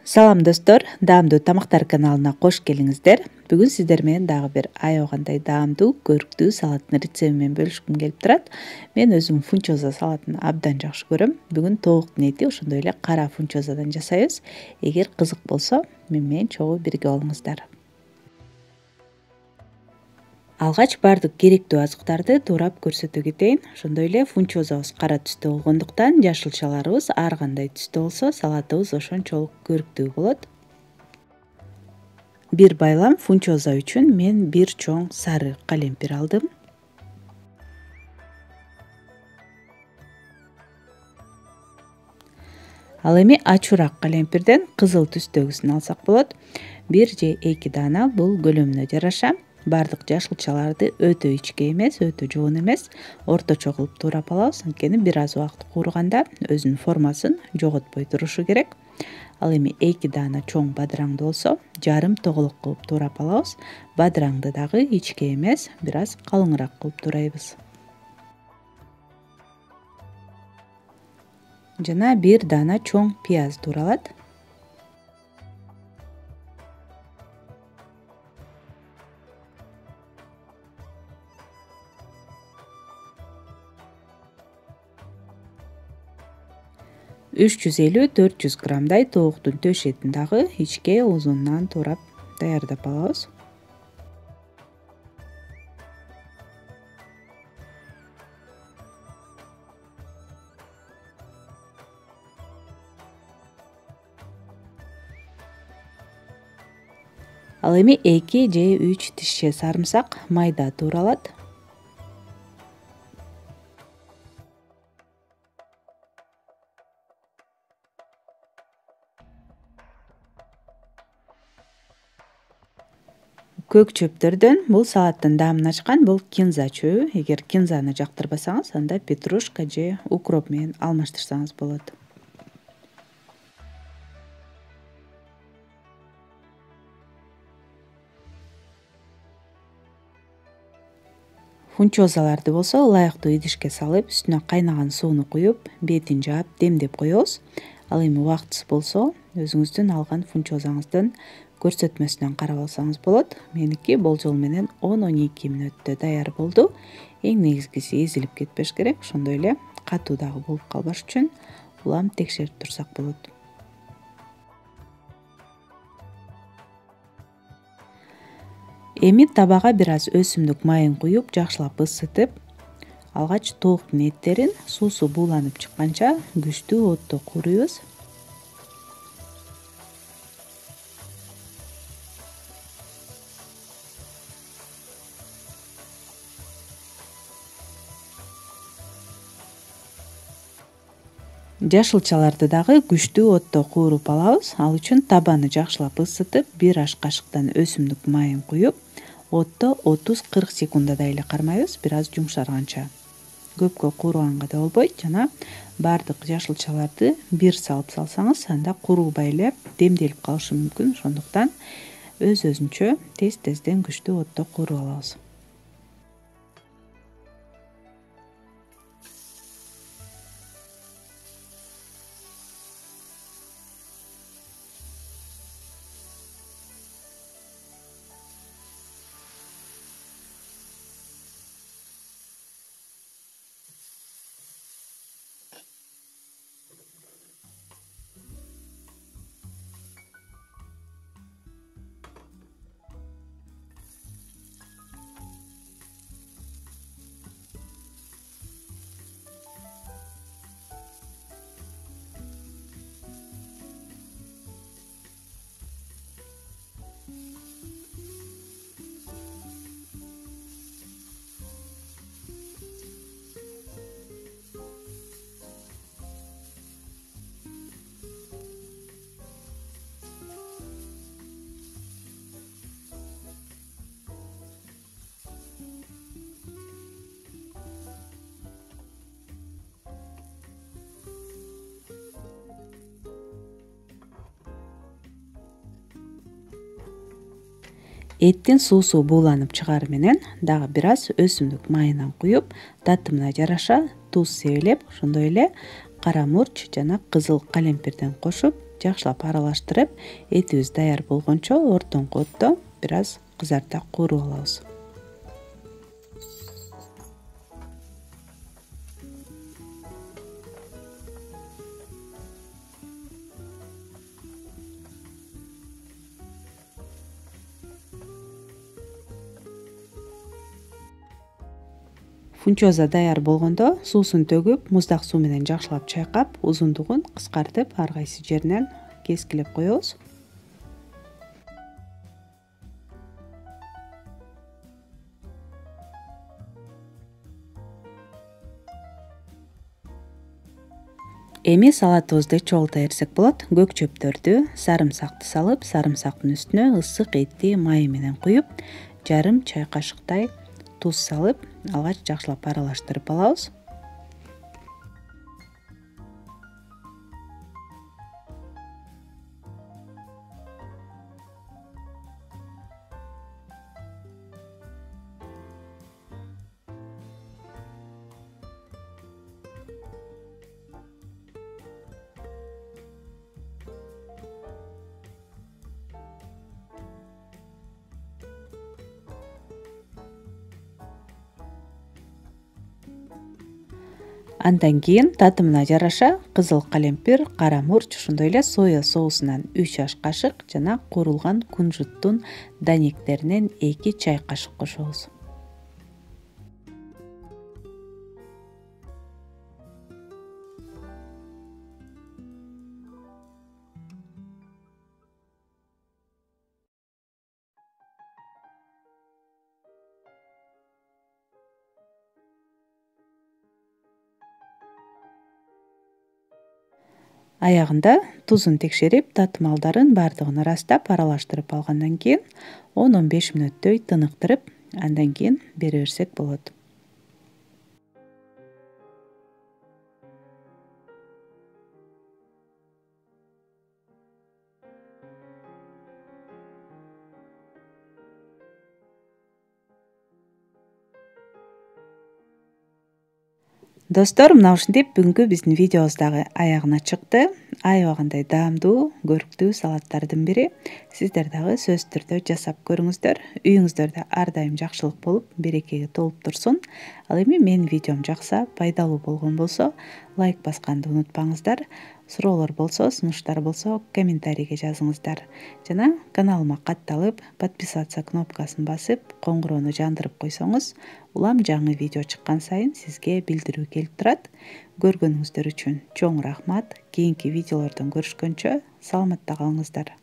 Салам достор, даамдуу тамактар каналына кош келиңиздер. Бүгүн сиздер менен дагы бир аябагандай даамдуу, көрктүү салаттын рецептин менен бөлүшкүм келип турат. Мен өзүм фунчоза салатын абдан жакшы көрөм. Бүгүн тобуктун эти, ошондой эле кара фунчозадан жасайбыз. Эгер кызык болсо, менен чогуу бирге болуңуздар. Алгач баардык керектүү азыктарды туурап көрсөтө кетейин. Ошондой эле фунчозабыз кара түстө болгондуктан жашылчаларыбыз ар кандай түстө болсо, салатыбыз ошончолук көрктүү болот. Бир байлам фунчоза үчүн мен бир чоң сары калемпир алдым. Ал эми ачуураак калемпирден кызыл түстөгүсүн алсак болот. 1 же 2 даана бул көлөмүнө жараша. Баардык жашылчаларды өтө ичке эмес, өтө жоон эмес, орточо кылып туурап алабыз. Анткени бир аз убакыт кууруганда өзүнүн формасын жоготпой турушу керек. Ал эми 2 даана чоң бадыраңды болсо, жарым тоголок кылып туурап алабыз. Бадыраңды дагы ичке эмес, бир аз калыңыраак кылып туурайбыз. Жана 1 даана чоң пияз тууралат. Үч жүз 400 граммдай тобуктун төшетин дагы ичке узунунан туурап даярдап алабыз. Ал эми 2 же 3 тишче сарымсак майда тууралат. Көк чөптөрдөн бул салаттын даамын ачкан бул кинза чөбү. Эгер кинзаны жактырбасаңыз, анда петрушка же укроп менен алмаштырсаңыз болот. Фунчозаларды болсо ылайыктуу идишке салып, үстүнө кайнаган сууну куюп, бетин жаап, демдеп коебуз. Ал эми убактысы болсо, өзүңүздүн алган фунчозаңыздын көрсөтмөсүнөн карап алсаңыз болот. Меники болжол менен 10-12 мүнөттө даяр болду. Эң негизгиси эзилип кетпеш керек. Ошондой эле катуу дагы болуп калбаш үчүн улам текшерип турсак болот. Эми табага бир аз өсүмдүк майын куюп, жакшылап ысытып, алгач тобуктун эттерин суусу бууланып чыкканча күчтүү отто кууруйбуз. Жашылчаларды дагы күчтүү отто кууруп алабыз. Ал үчүн табаны жакшылап ысытып, 1 аш кашыктан өсүмдүк майын куюп, отто 30-40 секунддай эле кармайбыз, бир аз жумшарганча. Көпкө кууруганга да болбойт. Жана баардык жашылчаларды бир салып салсаңыз, анда куурубай эле демделип калышы мүмкүн. Ошондуктан өз-өзүнчө тез-тезден күчтүү отто кууруп алабыз. Эттин суусу бууланып чыгары менен дагы бир аз өсүмдүк майынан куюп, татымына жараша туз себелеп, ошондой эле кара мурч жана кызыл калемпирден кошуп жакшылап аралаштырып, этибиз даяр болгончо ортоңку отто бир аз кызарта кууруп алабыз. Фунчоза даяр болгондо суусун төгүп, муздак суу менен жакшылап чайкап, узундугун кыскартып, ар кайсы жеринен кескилеп коебуз. Эми салатыбызды чогулта берсек болот. Көк чөптөрдү, сарымсакты салып, сарымсактын үстүнө ысык этти май менен куюп, жарым чай кашыктай туз салып, алгач жакшылап аралаштырып алабыз. Андан кийин татымына жараша кызыл калемпир, кара мурч, ошондой эле соя соусунан 3 аш кашык жана куурулган кунжуттун данектеринен 2 чай кашык кошобуз. Аягында тузун текшерип, татымалдарын баардыгын ырастап, аралаштырып алгандан кийин 10-15 мүнөттөй тыныктырып, андан кийин бере берсек болот. Достор, мына ушинтип бүгүнкү биздин видеобуз дагы аягына чыкты. Аябагандай даамдуу, көрктүү салаттардын бири. Сиздер дагы сөзсүз түрдө жасап көрүңүздөр. Үйүңүздөрдө ар дайым жакшылык болуп, берекеге толуп турсун. Ал эми менин видеом жакса, пайдалуу болгон болсо, лайк басканды унутпаңыздар. Суроолор болсо, сунуштар болсо, комментарийге жазыңыздар. Жана каналыма катталып, подписаться кнопкасын басып, коңгуроону жандырып койсоңуз, улам жаңы видео чыккан сайын сизге билдирүү келип турат. Көргөнүңүздөр үчүн чоң рахмат. Кийинки видеолордон көрүшкөнчө саламатта калыңыздар.